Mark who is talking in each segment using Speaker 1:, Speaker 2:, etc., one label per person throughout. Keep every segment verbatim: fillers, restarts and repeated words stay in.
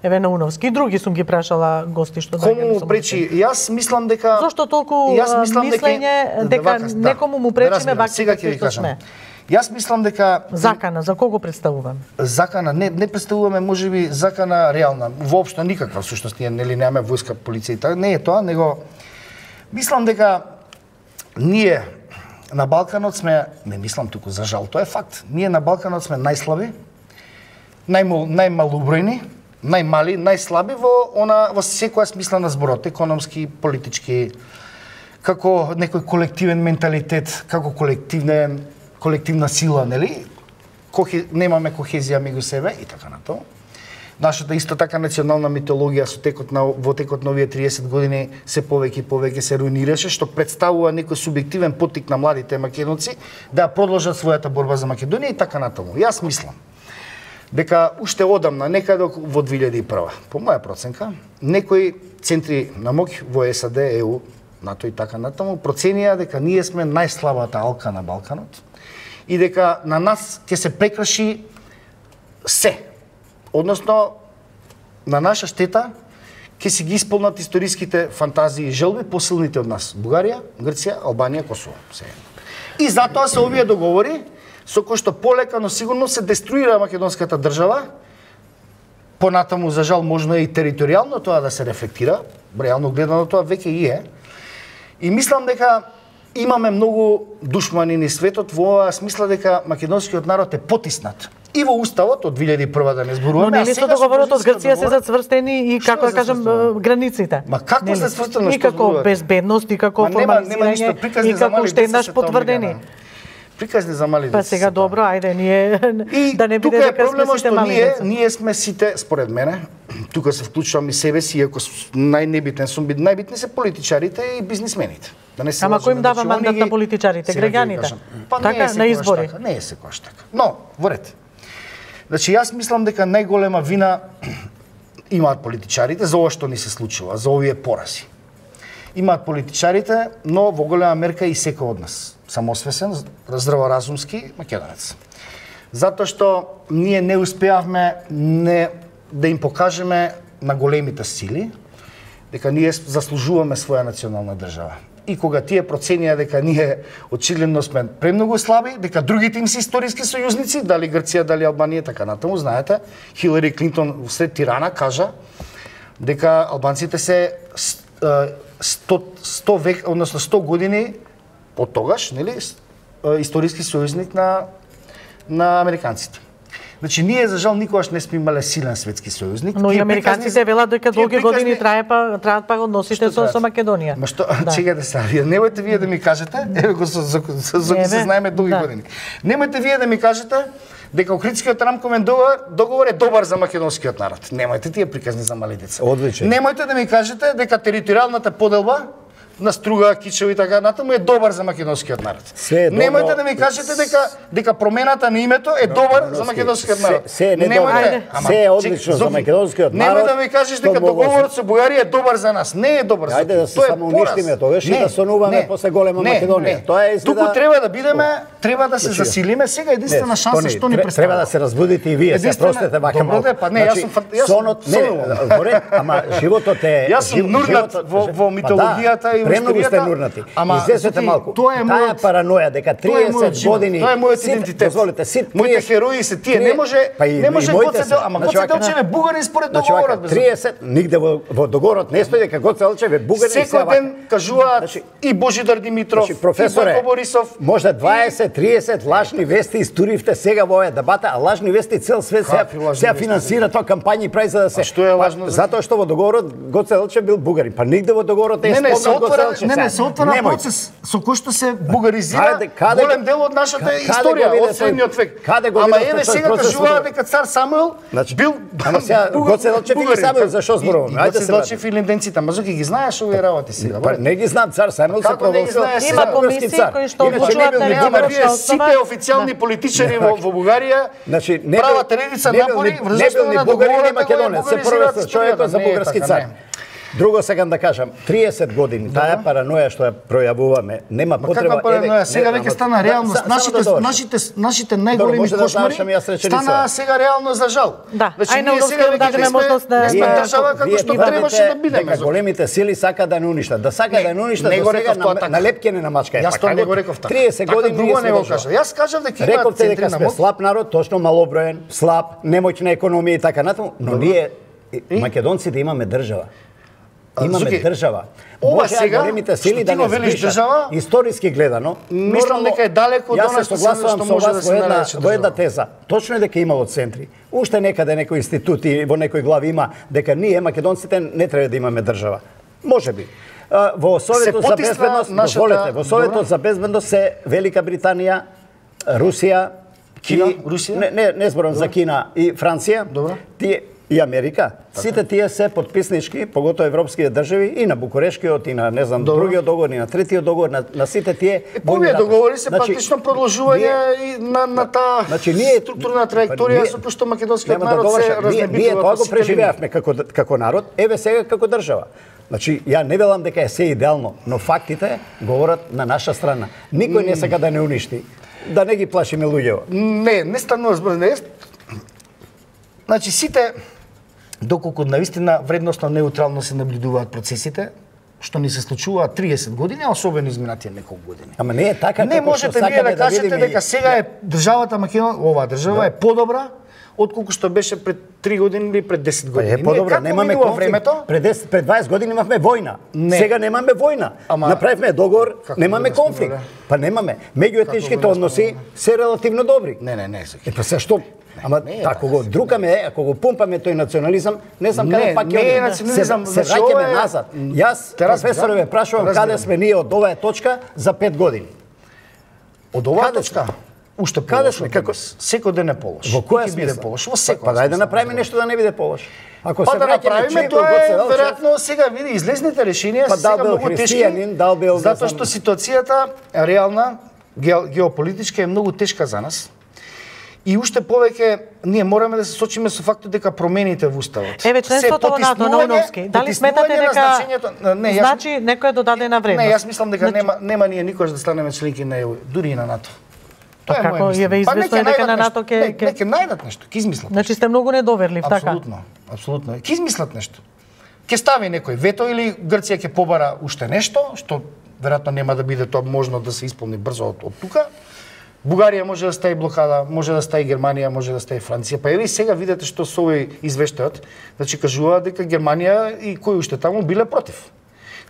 Speaker 1: Еве Науновски и други сум ги прашала гости што
Speaker 2: Кому му пречи? Јас мислам дека
Speaker 1: Зошто толку мислење дека некому му пречиме вакците што сме?
Speaker 2: Јас мислам дека
Speaker 1: закана за кого представуваме?
Speaker 2: Закана не не представуваме можеби закана реална, воопшто никаква всушност ние нели немаме војска, полиција и така, не е тоа, него мислам дека ние на Балканот сме, не мислам туку за жал, тоа е факт. Ние на Балканот сме најслаби, најмал, најмалобројни, најмали, најслаби во она во секоја смисла на зборот, економски, политички, како некој колективен менталитет, како колективне колективна сила, нели? Кохе, немаме кохезија меѓу себе и така натаму. Нашата исто така национална митологија со текот на во текот на овие триесет години се повеќе и повеќе се руинираше, што представува некој субјективен поттик на младите македонци да продолжат својата борба за Македонија и така натаму. Јас мислам дека уште одамна, некаде во две илјади и прва, по моја проценка, некои центри на моќ во САД, ЕУ, НАТО и така натаму проценија дека ние сме најслабата алка на Балканот и дека на нас ќе се прекраши се. Односно, на наша штета ќе си ги исполнат историските фантазии и желби посилните од нас. Бугарија, Грција, Албанија, Косово. Се. И затоа се овие договори со кои што полека, но сигурно се деструира македонската држава. Понатаму, за жал, можно и територијално тоа да се рефлектира. Реално гледано тоа веќе и е. И мислам дека имаме многу душмани низ светот во оваа смисла дека македонскиот народ е потиснат. И во уставот од две илјади и прва да не зборуваме.
Speaker 1: Но нели со договорот од Грција се зацврстени и како да кажам границите?
Speaker 2: Ма како се цврстено,
Speaker 1: што како безбедност и како формализирање и како уште еднаш потврдени.
Speaker 2: Приказни за мали деца.
Speaker 1: Па сега добро, ајде ние
Speaker 2: и
Speaker 1: да не биде дека сме сите мали
Speaker 2: ние,
Speaker 1: деца.
Speaker 2: Ние сме сите, според мене, тука се вклучувам и себе си, иако најнебитен сум бит, најбитни се политичарите и бизнисмените. Да не се
Speaker 1: Ама кој им дава мандат на политичарите, граѓаните?
Speaker 2: Па
Speaker 1: така на избори.
Speaker 2: Така, не е секојаш така. Но, во ред. Значи јас мислам дека најголема вина имаат политичарите за ова што ни се случува, за овие порази. Имаат политичарите, но во голема мерка и секој од нас. Самосвесен, здраворазумски македонец. Затоа што ние не успеавме не да им покажеме на големите сили дека ние заслужуваме своја национална држава. И кога тие проценија дека ние очигледно сме премногу слаби, дека другите им се историски сојузници, дали Грција, дали Албанија, така натаму, знаете, Хилари Клинтон сред Тирана кажа дека албанците се сто, сто век, односно сто години од тогаш, нели, историски сојузник на на американците. Значи ние за жал никогаш не сме имале силен светски сојузник.
Speaker 1: Но и американците велат дека долги приказни... години трае па траат па односите со, со Македонија.
Speaker 2: Ма што, да. Чекате сега, вие немојте вие да ми кажете, еве го за за за, за се знаеме долги да. години. Немојте вие да ми кажете дека Охридскиот рамковен договор, договор е добар за македонскиот народ. Немојте тие приказни за мали деца.
Speaker 3: Одличен.
Speaker 2: Немојте да ми кажете дека територијалната поделба на Струга, Кичево и така натаму е добар за македонскиот народ. Немојте да ми кажете дека дека промената на името е добар за македонскиот народ.
Speaker 3: Се е недобар. Се е одлично за македонскиот народ.
Speaker 2: Немојте да ми кажеш дека договорот со Бугарија е добар за нас. Не е добар за нас.
Speaker 3: Ајде да се самоуништиме тогаш и да сонуваме после голема Македонија.
Speaker 2: Тоа е изгледа. Туку треба да бидеме, треба да се засилиме. Сега единствена шанса што ни представува.
Speaker 3: Треба да се разбудите и вие, се простете вака малку.
Speaker 2: Па не, јас сум
Speaker 3: сонот, не, поред, ама животот е
Speaker 2: јас сум нурнат во митологијата и
Speaker 3: премногу сте нурнати. Излезете малку.
Speaker 2: Тоа е
Speaker 3: мојот параноја дека триесет години.
Speaker 2: Тоа е мојот идентитет.
Speaker 3: Дозволете, сит
Speaker 2: моите херои се тие. Не може, не може Гоце Делчев, ама Гоце Делчев е бугарин според договорот.
Speaker 3: триесет нигде во во договорот не стои дека Гоце Делчев е бугарин.
Speaker 2: Секој ден кажуваат и Божидар Димитров, и Бойко Борисов.
Speaker 3: Може дваесет триесет лажни вести истуривте сега во оваа дебата, а лажни вести цел свет се финансира тоа кампањи прави за да се.
Speaker 2: Што е лажно?
Speaker 3: Затоа што во договорот Гоце Делчев бил бугарин, па нигде во договорот не е спомнат Гоце Делчев.
Speaker 2: Не, не, се отвара процес со кој што се бугаризира голем дел од нашата историја од средниот век. Ама еве сега кажуваат дека цар Самуил бил
Speaker 3: Ама сега Гоце Делчев или Самуил зашо зборуваме?
Speaker 2: Ајде се Делчев и линденците, Мазуки ги знаеш овие работи сега.
Speaker 3: Па не ги знам, цар Самуил се провозил.
Speaker 1: Има комисии кои што одлучуваат на реална
Speaker 2: сите официјални политичари во Бугарија прават редица напори врзано на договорот
Speaker 3: македонец, се провесил човекот за бугарски цар. Друго сакам да кажам, триесет години таа параноја што ја пројавуваме, нема потреба.
Speaker 2: Каква параноја? Сега веќе стана реалност. Нашите нашите нашите најголеми кошмари стана сега реалност за жал.
Speaker 1: Да, ај на сега дадеме можност да
Speaker 2: држава како што требаше да бидеме.
Speaker 3: Големите сили сакаат да не уништат, да сакаат да не уништат, до сега на лепкене на мачка.
Speaker 2: Јас тоа не го реков така.
Speaker 3: триесет години
Speaker 2: друго не го кажав. Јас кажав дека има
Speaker 3: рековте дека сме слаб народ, точно малоброен, слаб, немоќна економија и така натаму, но ние македонците имаме држава. Имаме држава.
Speaker 2: Ова
Speaker 3: Може
Speaker 2: сега
Speaker 3: големите сили да не
Speaker 2: велиш држава,
Speaker 3: историски гледано,
Speaker 2: мислам дека е далеко од она што
Speaker 3: согласувам со вас во една во една теза. Точно е дека имало центри. Уште некаде некои институти во некои глави има дека ние македонците не треба да имаме држава. Можеби. Во Советот за безбедност, дозволете, во Советот за безбедност се Велика Британија, Русија,
Speaker 2: Кина, Русија?
Speaker 3: Не, не, не зборам за Кина и Франција.
Speaker 2: Добро.
Speaker 3: Тие и Америка. Сите тие се подписнички, поготоа европските држави и на Букурешкиот и на не знам другиот договор и на третиот договор на, на сите тие.
Speaker 2: Овие договори се значи, практично продолжување и на на таа
Speaker 3: значи, ние,
Speaker 2: структурна траекторија со кој што македонскиот народ се разнебитува.
Speaker 3: Ние тоа го преживеавме како како народ, еве сега како држава. Значи, ја не велам дека е се идеално, но фактите говорат на наша страна. Никој не сака да не уништи. Да не ги плашиме луѓето.
Speaker 2: Не, не станува збор, не. Значи сите доколку навистина вредносно неутрално се наблюдуваат процесите, што ни се случуваат триесет години, а особено изминатите неколку години.
Speaker 3: Ама не е така
Speaker 2: не
Speaker 3: како
Speaker 2: можете вие да кажете дека сега е државата Македонија, оваа држава е подобра отколку што беше пред три години или пред десет години.
Speaker 3: Е подобра, немаме времето. Пред десет, пред дваесет години имавме војна. Не. Сега немаме војна. Ама, направивме договор, немаме конфликт. Па немаме. Меѓуетничките односи се релативно добри.
Speaker 2: Не, не, не.
Speaker 3: Е па се што? Ама ако го друкаме, ако го пумпаме тој национализам, не знам каде пак ќе се, се враќаме назад. Јас професоре ве прашувам каде сме ние од оваа точка за пет години.
Speaker 2: Од оваа точка? Уште каде сме како секој ден е полош.
Speaker 3: Во која биде
Speaker 2: полош? Во секој.
Speaker 3: Па дај да направиме нешто да не биде полош. Ако
Speaker 2: па се да направиме тоа е веројатно сега види излезните решенија
Speaker 3: па,
Speaker 2: се сега многу тешки. Затоа што ситуацијата реална геополитичка е многу тешка за нас. И уште повеќе ние мораме да се сочиме со фактот дека промените во уставот.
Speaker 1: Еве членството во НАТО на Уновски. Дали сметате дека не, јас, значи некоја додадена вредност?
Speaker 2: Не, јас мислам дека значи... нема нема ние никош да станеме членки на ЕУ, дури и на НАТО.
Speaker 1: Тоа е како ја ве известно е дека на НАТО ќе
Speaker 2: ќе ќе најдат нешто, ќе измислат.
Speaker 1: Значи сте многу недоверлив, така?
Speaker 2: Апсолутно, апсолутно. Ќе измислат нешто. Ќе стави некој вето или Грција ќе побара уште нешто, што веројатно нема да биде тоа можно да се исполни брзо од, од тука. Бугарија може да стави блокада, може да стави Германија, може да стави Франција. Па еве и сега видете што со овој извештајот, значи кажуваат дека Германија и кои уште таму биле против.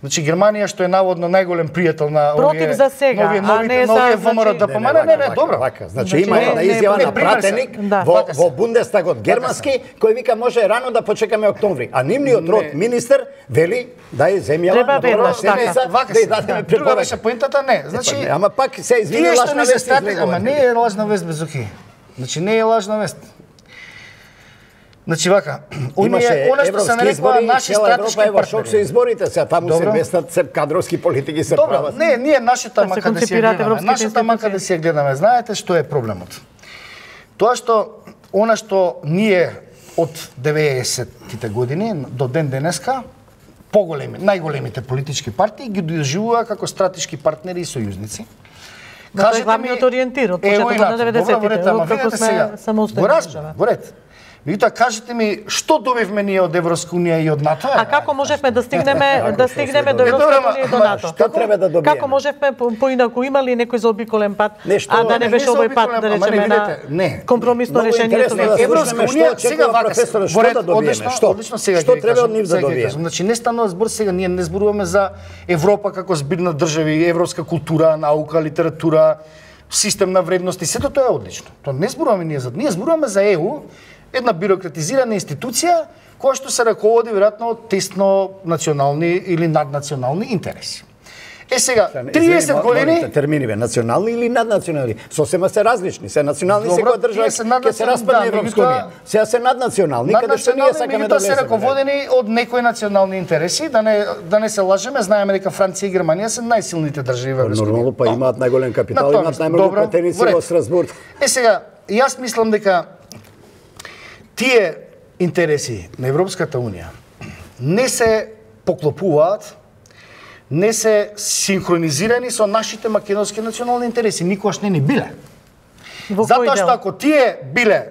Speaker 2: Значи Германија што е наводно најголем пријател на
Speaker 1: против за сега,
Speaker 2: нови, нови,
Speaker 1: а не
Speaker 2: нови
Speaker 1: за
Speaker 2: ВМРО да помане, не, не, добро.
Speaker 3: Значи има една изјава на пратеник во во Бундестагот германски кој вика може рано да почекаме октомври, а нивниот род министер вели дај земјава
Speaker 1: на
Speaker 2: седмица да дадеме препорака. Беше поентата не. Значи
Speaker 3: ама пак се извини лажна вест,
Speaker 2: ама не е лажна вест без оки. Значи не е лажна вест. Значи вака,
Speaker 3: имаше
Speaker 2: она што се нарекува наши стратешки
Speaker 3: партнери. Шок се изборите, сега таму се местат се кадровски политики се прават.
Speaker 2: Не, ние нашата мака да си гледаме, нашата мака да си гледаме. Знаете што е проблемот? Тоа што она што ние од деветдесеттите години до ден денеска поголеми, најголемите политички партии ги доживува како стратешки партнери и сојузници.
Speaker 1: Кажете главниот ориентир од почетокот на деветдесеттите, откако сме самостојна држава.
Speaker 2: Во ред. Меѓутоа кажете ми што добивме ние од Европска унија и од НАТО?
Speaker 1: А како можевме да стигнеме да стигнеме до Европска унија и до НАТО?
Speaker 3: Што треба да добиеме?
Speaker 1: Како можевме поинаку имали некој заобиколен пат, а да не беше овој пат да речеме на компромисно решение со
Speaker 2: Европска унија сега вака
Speaker 3: што да добиеме? Што?
Speaker 2: Одлично сега
Speaker 3: што треба од нив да добиеме?
Speaker 2: Значи не станува збор сега, ние не зборуваме за Европа како збирна држави, европска култура, наука, литература, систем на вредности, сето тоа е одлично. Тоа не зборуваме ние за, ние зборуваме за ЕУ, една бирократизирана институција која што се раководи веројатно од тесно национални или наднационални интереси. Е сега, триесет години
Speaker 3: терминиве национални или наднационални, сосема се различни, се национални секоја држава ќе се распадне Европска унија. Сега се наднационални, каде што ние сакаме да влеземе.
Speaker 2: Се раководени од некои национални интереси, да не да не се лажеме, знаеме дека Франција и Германија се најсилните држави во Европска унија.
Speaker 3: Нормално па имаат најголем капитал, имаат најмногу пратеници во Страсбург.
Speaker 2: Е сега, јас мислам дека тие интереси на Европската унија не се поклопуваат, не се синхронизирани со нашите македонски национални интереси. Никогаш не ни биле. Затоа што ако тие биле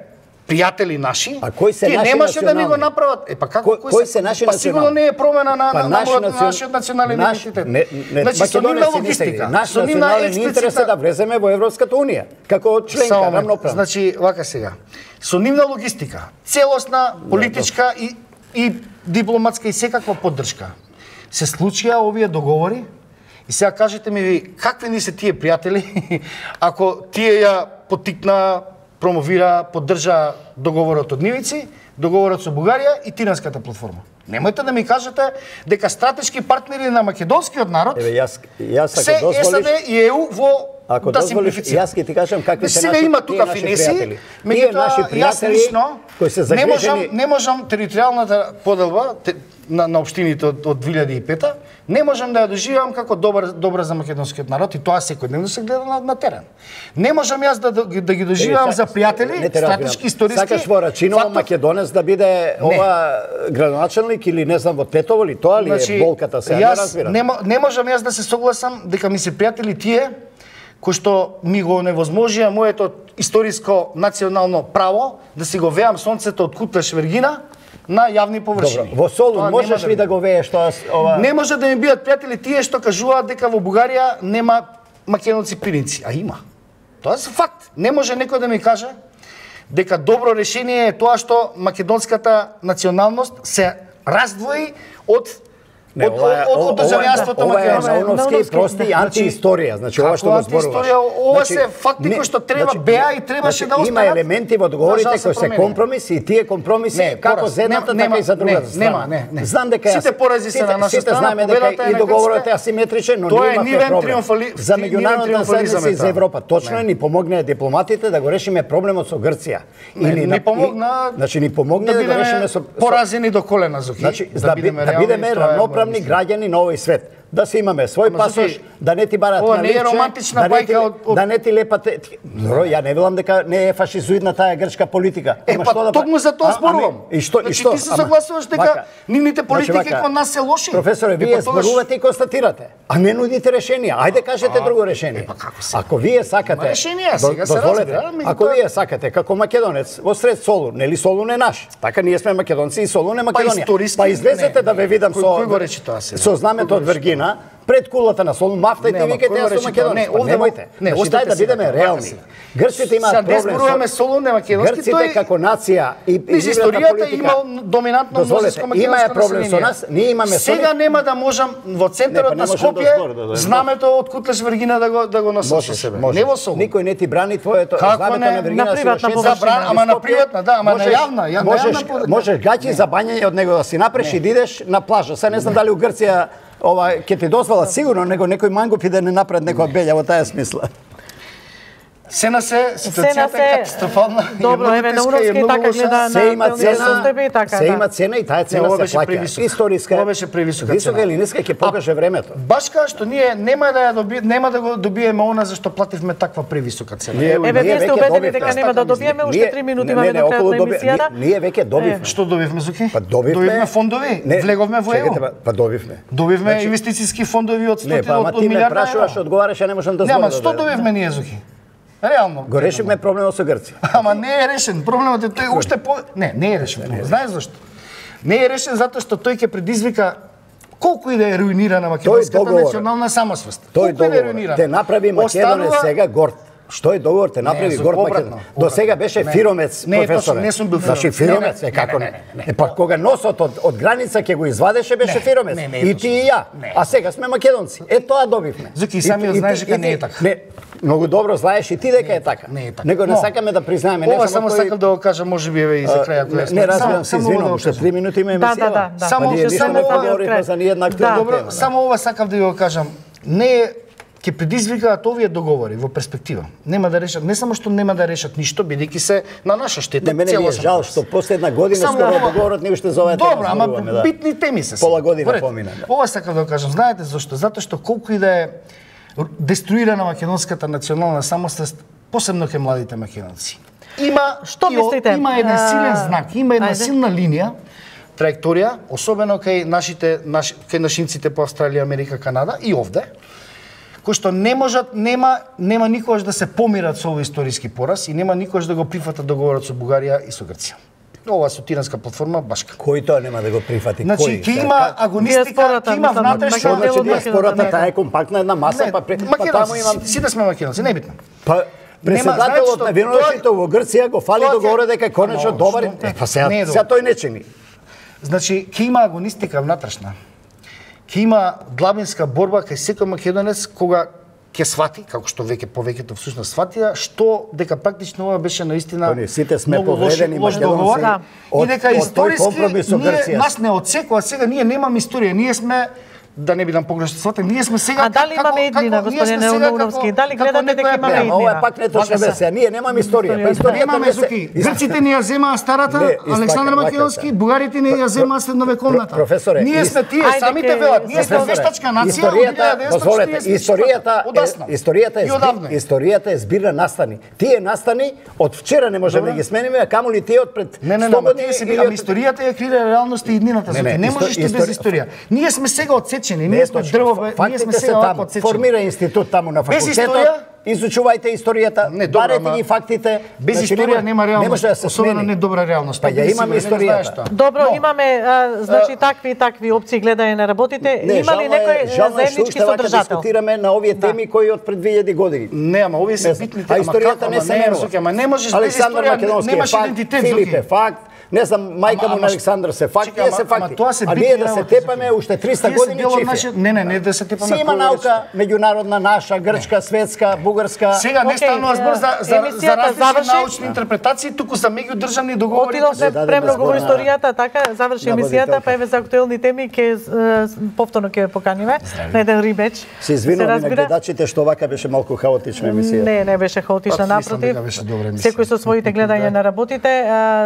Speaker 2: пријатели наши,
Speaker 3: а кои се
Speaker 2: тие
Speaker 3: наши
Speaker 2: немаше да ми го
Speaker 3: национални?
Speaker 2: направат. Е па како
Speaker 3: Кои- кои се наши
Speaker 2: Па сигурно
Speaker 3: национални?
Speaker 2: не е промена на
Speaker 3: Па
Speaker 2: на
Speaker 3: наши
Speaker 2: на
Speaker 3: национ-
Speaker 2: нашиот национален
Speaker 3: наш-
Speaker 2: идентитет.
Speaker 3: не- не,
Speaker 2: Значи со нивна
Speaker 3: македонеци не
Speaker 2: логистика,
Speaker 3: се- Наш
Speaker 2: со нивна
Speaker 3: национален интерес е да влеземе во Европската унија, како членка
Speaker 2: Само момент.
Speaker 3: рамноправна.
Speaker 2: Значи, вака сега. Со нивна логистика, целосна политичка и и дипломатска и секаква поддршка. Се случија овие договори и сега кажете ми ви какви ни се тие пријатели ако тие ја потикна, промовира, поддржа договорот од Нивици, договорот со Бугарија и Тиранската платформа. Немојте да ми кажете дека стратешки партнери на македонскиот народ
Speaker 3: Еве јас јас
Speaker 2: се
Speaker 3: ако дозволиш
Speaker 2: САД и ЕУ во
Speaker 3: Ако
Speaker 2: да
Speaker 3: дозволиш,
Speaker 2: симплифицира.
Speaker 3: јас ќе ти кажам какви се
Speaker 2: Сега
Speaker 3: наши,
Speaker 2: има
Speaker 3: тие
Speaker 2: тука
Speaker 3: наши
Speaker 2: финеси,
Speaker 3: пријатели. Тие
Speaker 2: меѓутоа
Speaker 3: наши
Speaker 2: јас
Speaker 3: пријатели
Speaker 2: лично
Speaker 3: кои се
Speaker 2: не можам
Speaker 3: загрижени,
Speaker 2: не можам територијалната поделба те, на, на општините од, од две илјади и пета не можам да ја доживам како добар добра за македонскиот народ и тоа секојдневно се гледа на, на терен. Не можам јас да, да, да ги доживам
Speaker 3: Еве,
Speaker 2: за пријатели,
Speaker 3: не те разбирам.
Speaker 2: стратешки, историски.
Speaker 3: Сакаш во Рачиново
Speaker 2: фактов-
Speaker 3: македонец да биде ова градоначелник или не знам во Тетово или тоа ли е болката се, не
Speaker 2: јас
Speaker 3: разбирам.
Speaker 2: не, мо- не можам јас да се согласам дека ми се пријатели тие кои што ми го невозможија моето историско национално право да си го веам сонцето од Кутлеш Вергина на јавни површини.
Speaker 3: Добро, во Солун
Speaker 2: Тоа
Speaker 3: можеш
Speaker 2: нема
Speaker 3: ли да го вееш тоа ова?
Speaker 2: Не може да ми бидат пријатели тие што кажуваат дека во Бугарија нема македонци пиринци, а има. Тоа е факт. Не може некој да ми каже дека добро решение е тоа што македонската националност се раздвои од
Speaker 3: Не,
Speaker 2: од,
Speaker 3: ова е-
Speaker 2: од, од, од
Speaker 3: ова е-
Speaker 2: државјанството
Speaker 3: ова е
Speaker 2: македонско.
Speaker 3: наоновски
Speaker 1: Наоновски,
Speaker 3: прости
Speaker 1: да.
Speaker 3: антиисторија, значи ова
Speaker 2: Како
Speaker 3: што го зборуваш.
Speaker 2: антиисторија? Ова
Speaker 3: Значи,
Speaker 2: се факти
Speaker 3: не,
Speaker 2: кои што треба
Speaker 3: значи,
Speaker 2: беа и требаше
Speaker 3: значи,
Speaker 2: да
Speaker 3: Има
Speaker 2: останат.
Speaker 3: елементи во договорите
Speaker 2: Нажал се
Speaker 3: кои се
Speaker 2: промени.
Speaker 3: компромиси и тие компромиси
Speaker 2: Не,
Speaker 3: како
Speaker 2: пораз.
Speaker 3: за едната
Speaker 2: Нема-
Speaker 3: така и за другата
Speaker 2: не,
Speaker 3: страна.
Speaker 2: нема, не, не.
Speaker 3: Знам дека
Speaker 2: Сите
Speaker 3: јас-
Speaker 2: порази се
Speaker 3: сите-
Speaker 2: на наша
Speaker 3: сите
Speaker 2: страна,
Speaker 3: знаеме дека
Speaker 2: победата е
Speaker 3: и
Speaker 2: на
Speaker 3: договорот е
Speaker 2: грците.
Speaker 3: асиметричен, но
Speaker 2: Тоа
Speaker 3: ние
Speaker 2: е
Speaker 3: имавме
Speaker 2: нивен
Speaker 3: проблем.
Speaker 2: триумфали-
Speaker 3: За
Speaker 2: нивен
Speaker 3: меѓународната
Speaker 2: триумфализам е
Speaker 3: заедница и за
Speaker 2: тоа.
Speaker 3: Европа точно
Speaker 2: Не.
Speaker 3: ни помогнаа дипломатите да го решиме проблемот со Грција.
Speaker 2: Не,
Speaker 3: Или
Speaker 2: ни
Speaker 3: на-
Speaker 2: помогна
Speaker 3: Значи ни помогна да го решиме со со-
Speaker 2: поразени до колена, Зоки.
Speaker 3: Значи, да, бидеме, да бидеме
Speaker 2: тоа е
Speaker 3: равноправни
Speaker 2: моја
Speaker 3: граѓани на овој свет. Да се имаме свој
Speaker 2: Ама,
Speaker 3: пасош,
Speaker 2: Зоки,
Speaker 3: да не ти барат
Speaker 2: ова
Speaker 3: на
Speaker 2: не е
Speaker 3: ливче,
Speaker 2: романтична
Speaker 3: да не ти,
Speaker 2: бајка од- од-
Speaker 3: да не ти лепате. Добро, ја не велам дека не е фашизоидна таа грчка политика.
Speaker 2: Е,
Speaker 3: Ама
Speaker 2: па
Speaker 3: што да
Speaker 2: токму
Speaker 3: прави?
Speaker 2: за тоа
Speaker 3: А-
Speaker 2: зборувам.
Speaker 3: ами, И што, и
Speaker 2: Значи,
Speaker 3: што?
Speaker 2: ти се
Speaker 3: Ама,
Speaker 2: согласуваш дека
Speaker 3: вака.
Speaker 2: нивните политики
Speaker 3: Значи, вака,
Speaker 2: кон нас се лоши?
Speaker 3: Професоре,
Speaker 2: Е,
Speaker 3: вие
Speaker 2: па тогаш-
Speaker 3: зборувате и констатирате, а не нудите решенија. Ајде кажете друго решение.
Speaker 2: е, па како се?
Speaker 3: Ако вие сакате,
Speaker 2: Има решенија,
Speaker 3: до-
Speaker 2: сега се
Speaker 3: дозволете,
Speaker 2: разбира, меѓутоа-
Speaker 3: ако вие сакате како македонец во сред Солун, нели Солун е наш. Така ние сме македонци и Солун е Македонија.
Speaker 2: историски,
Speaker 3: Па излезете
Speaker 2: не,
Speaker 3: да ве видам
Speaker 2: кој-
Speaker 3: со
Speaker 2: кој го речи тоа сега?
Speaker 3: со знамето од Вергина пред кулата на Солун, мафтајте и
Speaker 2: ама
Speaker 3: викајте
Speaker 2: кој го
Speaker 3: јас
Speaker 2: речи
Speaker 3: сум
Speaker 2: тоа?
Speaker 3: македонец.
Speaker 2: Не,
Speaker 3: Па
Speaker 2: овде во-
Speaker 3: немојте.
Speaker 2: не,
Speaker 3: Значи,
Speaker 2: оставете
Speaker 3: дај да
Speaker 2: сега
Speaker 3: бидеме
Speaker 2: тоа,
Speaker 3: реални.
Speaker 2: сега.
Speaker 3: Грците имаат
Speaker 2: Сега не
Speaker 3: проблем
Speaker 2: зборуваме
Speaker 3: со
Speaker 2: Солун, не македонски,
Speaker 3: Грците
Speaker 2: тој
Speaker 3: како нација и и
Speaker 2: низ
Speaker 3: нивната
Speaker 2: историјата
Speaker 3: политика.
Speaker 2: имал доминантно
Speaker 3: Дозволете,
Speaker 2: мнозинско
Speaker 3: има е
Speaker 2: македонско
Speaker 3: проблем со
Speaker 2: население.
Speaker 3: нас, ние имаме со
Speaker 2: Сега
Speaker 3: нив-
Speaker 2: нема да можам во
Speaker 3: Не,
Speaker 2: центарот
Speaker 3: па не
Speaker 2: на
Speaker 3: можам
Speaker 2: Скопје
Speaker 3: доскоро да дојдем.
Speaker 2: знамето од Кутлеш Вергина да го да го носам со себе. Не во Солун.
Speaker 3: Никој не ти брани твоето
Speaker 2: Како
Speaker 3: знамето
Speaker 2: не?
Speaker 3: на Вергина
Speaker 1: На
Speaker 3: да си
Speaker 1: приватна
Speaker 3: го
Speaker 1: површина.
Speaker 3: шеташ
Speaker 2: Забран- ама на
Speaker 3: Скопје,
Speaker 2: приватна, да, ама на
Speaker 3: можеш-
Speaker 2: јавна, ја- на
Speaker 3: можеш,
Speaker 2: јавна површина.
Speaker 3: можеш гаќи за бањање од него да си направиш и да идеш на плажа. Сега не знам дали у Грција ова ќе ти дозволат сигурно, него некој мангуп и да не направат некоја белја во таа смисла.
Speaker 2: Се на се, ситуацијата
Speaker 1: Се на
Speaker 2: е
Speaker 1: се.
Speaker 2: катастрофална.
Speaker 1: Добро, еве, на Уровски така гледа
Speaker 3: Се
Speaker 1: на
Speaker 3: има
Speaker 1: телевизија
Speaker 3: цена,
Speaker 1: со тебе и така,
Speaker 3: се
Speaker 1: да.
Speaker 3: има цена и таа
Speaker 2: Не,
Speaker 3: цена
Speaker 2: ова
Speaker 3: се
Speaker 2: беше
Speaker 3: плаќа.
Speaker 2: превисока.
Speaker 3: Историска.
Speaker 2: Ова беше превисока
Speaker 3: Висока
Speaker 2: цена.
Speaker 3: или ниска ќе покаже времето.
Speaker 2: Баш као што ние нема да ја доби, нема да го добиеме она за што плативме таква превисока цена.
Speaker 3: Ние-
Speaker 1: Еве, вие сте
Speaker 3: веќе
Speaker 1: убедени
Speaker 3: добивме.
Speaker 1: дека нема да добиеме, уште
Speaker 3: Ние-
Speaker 1: три минути
Speaker 3: не,
Speaker 1: имаме
Speaker 3: не,
Speaker 1: до крајот
Speaker 3: околу
Speaker 1: на
Speaker 3: доби-
Speaker 1: емисијата.
Speaker 3: ние- Ние веќе добивме.
Speaker 2: Што добивме, Зуки?
Speaker 3: Па добивме.
Speaker 2: Добивме фондови,
Speaker 3: Не,
Speaker 2: влеговме во
Speaker 3: чекайте,
Speaker 2: ЕУ.
Speaker 3: па- Па добивме.
Speaker 2: Добивме
Speaker 3: Значи-
Speaker 2: инвестициски фондови од
Speaker 3: Не,
Speaker 2: сто
Speaker 3: па ама
Speaker 2: од
Speaker 3: ти ме
Speaker 2: милиарда
Speaker 3: прашуваш,
Speaker 2: евра.
Speaker 3: одговараш, ја не можам да
Speaker 2: Нема,
Speaker 3: зборам.
Speaker 2: што добивме ние, Зуки? Реално.
Speaker 3: Го решивме проблемот со Грција.
Speaker 2: Ама не е решен. Проблемот е тој уште по Не, не е решен. Знаеш зашто? Не е решен затоа што тој ќе предизвика колку и да е руинирана македонската
Speaker 3: договор,
Speaker 2: национална самосвест.
Speaker 3: Тој
Speaker 2: Колку и да е
Speaker 3: договор
Speaker 2: руинирана.
Speaker 3: те направи Македонец
Speaker 2: Останува-
Speaker 3: сега горд. Што е договор те направи
Speaker 2: Зо-
Speaker 3: горд
Speaker 2: обратно,
Speaker 3: Македонец. До сега беше
Speaker 2: Не.
Speaker 3: фиромец,
Speaker 2: Не,
Speaker 3: професоре.
Speaker 2: точно, не сум бил
Speaker 3: Значи
Speaker 2: фиромец.
Speaker 3: фиромец,
Speaker 2: Не,
Speaker 3: е
Speaker 2: не,
Speaker 3: како
Speaker 2: не,
Speaker 3: не?
Speaker 2: не, не.
Speaker 3: Е па кога носот од, од граница ќе го извадеше беше
Speaker 2: Не,
Speaker 3: фиромец.
Speaker 2: не, не е
Speaker 3: И
Speaker 2: точно.
Speaker 3: ти и ја.
Speaker 2: Не.
Speaker 3: А сега сме македонци. Е тоа добивме.
Speaker 2: Зуки, и
Speaker 3: И
Speaker 2: самиот
Speaker 3: ти- и
Speaker 2: знаеш
Speaker 3: ти-
Speaker 2: дека
Speaker 3: и
Speaker 2: не е
Speaker 3: ти-
Speaker 2: така.
Speaker 3: Не, многу добро знаеш и ти дека е така.
Speaker 2: Не е така.
Speaker 3: Него не
Speaker 2: Но,
Speaker 3: сакаме да признаеме, не
Speaker 2: Ова
Speaker 3: само
Speaker 2: само
Speaker 3: кој-
Speaker 2: сакам да го кажам, може би еве и за крај ако
Speaker 3: Не,
Speaker 2: јас
Speaker 3: не разбирам,
Speaker 2: Само-
Speaker 3: се
Speaker 2: само ова да
Speaker 3: извинувам,
Speaker 2: го
Speaker 3: уште
Speaker 2: кажам.
Speaker 3: три минути има
Speaker 1: Да,
Speaker 3: емисија.
Speaker 1: да, да, да.
Speaker 2: Само-
Speaker 3: Па ние
Speaker 2: само
Speaker 3: ништо не
Speaker 2: ова-
Speaker 3: поговоривме за ниједна актуелна
Speaker 1: Да.
Speaker 2: Добро,
Speaker 3: тема.
Speaker 2: само ова сакав да ја го кажам. Не е ќе предизвикаат овие договори во перспектива. Нема да решат, не само што нема да решат ништо, бидејќи се на наша штета.
Speaker 3: Не, мене ми е
Speaker 2: целосен
Speaker 3: жал
Speaker 2: процес.
Speaker 3: што последна година
Speaker 2: Само
Speaker 3: скоро
Speaker 2: ова-
Speaker 3: договорот не уште за оваа тема
Speaker 2: Добро, ама
Speaker 3: зборуваме, да.
Speaker 2: битни теми се.
Speaker 3: Пола година
Speaker 2: Поред.
Speaker 3: помина, да.
Speaker 2: Ова сакав да го кажам. Знаете зашто? Затоа што колку и да е деструирана македонската национална самосвест, посебно кај младите македонци. Има
Speaker 1: Што
Speaker 2: и о-
Speaker 1: мислите?
Speaker 2: Има еден
Speaker 1: А,
Speaker 2: силен знак, има една
Speaker 1: ајде.
Speaker 2: силна линија траекторија, особено кај нашите наши, кај нашинците по Австралија, Америка, Канада и овде, кои што не можат, нема нема никогаш да се помират со овој историски пораз и нема никогаш да го прифатат договорот со Бугарија и со Грција. Ова со тиранска платформа башка.
Speaker 3: Кој тоа нема да го прифати?
Speaker 2: Значи,
Speaker 3: кој?
Speaker 2: ќе има агонистика, ќе има внатрешна...
Speaker 3: Значи, диаспората таа е компактна една маса,
Speaker 2: не,
Speaker 3: па, па
Speaker 2: таму имам... Сите сме македонци, не битно.
Speaker 3: Па, председателот на виновниците во Грција го фали договор дека конечно добар. Па сега, сега тој не чини.
Speaker 2: Значи, ќе има агонистика внатрешна. Ќе има длабинска борба кај секој македонец кога ќе свати, како што веќе повеќето всушност сватија, што дека практично ова беше наистина
Speaker 3: не, сите сме повредени македонци
Speaker 2: да. И дека историски ние, нас не отсекува сега, ние немаме историја, ние сме да не бидам погрешно сватен, ние сме сега
Speaker 1: А дали имаме еднина, господине Еуновски? Дали гледате дека имаме еднина?
Speaker 3: Ова е пак не точно версија. Ние немаме историја. Па историјата
Speaker 2: немаме зуки. Грците ни ја земаа старата, Александар Македонски, бугарите ни ја земаа средновековната.
Speaker 3: Професоре,
Speaker 2: ние сме тие самите велат. Ние сме вештачка нација.
Speaker 3: Историјата, историјата, историјата е историјата е збир на настани. Тие настани од вчера не можеме да ги смениме, а камоли тие од пред сто години.
Speaker 2: Ами историјата ја креира реалноста и иднината. Не можеш ти без историја. Ние сме сега отсечени, ние сме дрво, ние сме сега
Speaker 3: таму. Формира институт таму на факултетот. Изучувајте историјата, барете ги фактите.
Speaker 2: Без историја нема реалност, особено не добра реалност.
Speaker 3: Па ја имаме историјата.
Speaker 1: Добро, имаме значи такви и такви опции гледање на работите. Има ли некој заеднички содржател?
Speaker 3: Дискутираме на овие теми кои од пред две илјади години.
Speaker 2: Не, ама овие се битни теми.
Speaker 3: А историјата не се менува.
Speaker 2: Ама не можеш без историја, немаш идентитет.
Speaker 3: Филип е факт. Не знам, мајка му на Александар се факти, тие се факти. А ние да се тепаме уште триста години чифе.
Speaker 2: Не, не, не да се тепаме.
Speaker 3: Си има наука, меѓународна, наша, грчка, светска, бугарска.
Speaker 2: Сега не станува збор за за за различни научни интерпретации, туку за меѓудржавни договори.
Speaker 1: Отидовме премногу во историјата, така заврши емисијата, па еве за актуелни теми ќе повторно ќе поканиме на еден рибеч.
Speaker 3: Се извинувам на гледачите што вака беше малку хаотична емисија.
Speaker 1: Не, не беше хаотична, напротив. Секој со своите гледања на работите,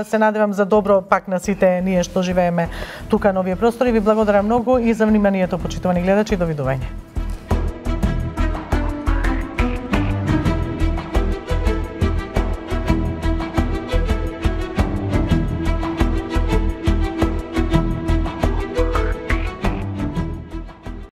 Speaker 1: се надевам за добро пак на сите ние што живееме тука на овие простори. Ви благодарам многу и за вниманието, почитувани гледачи, довидување.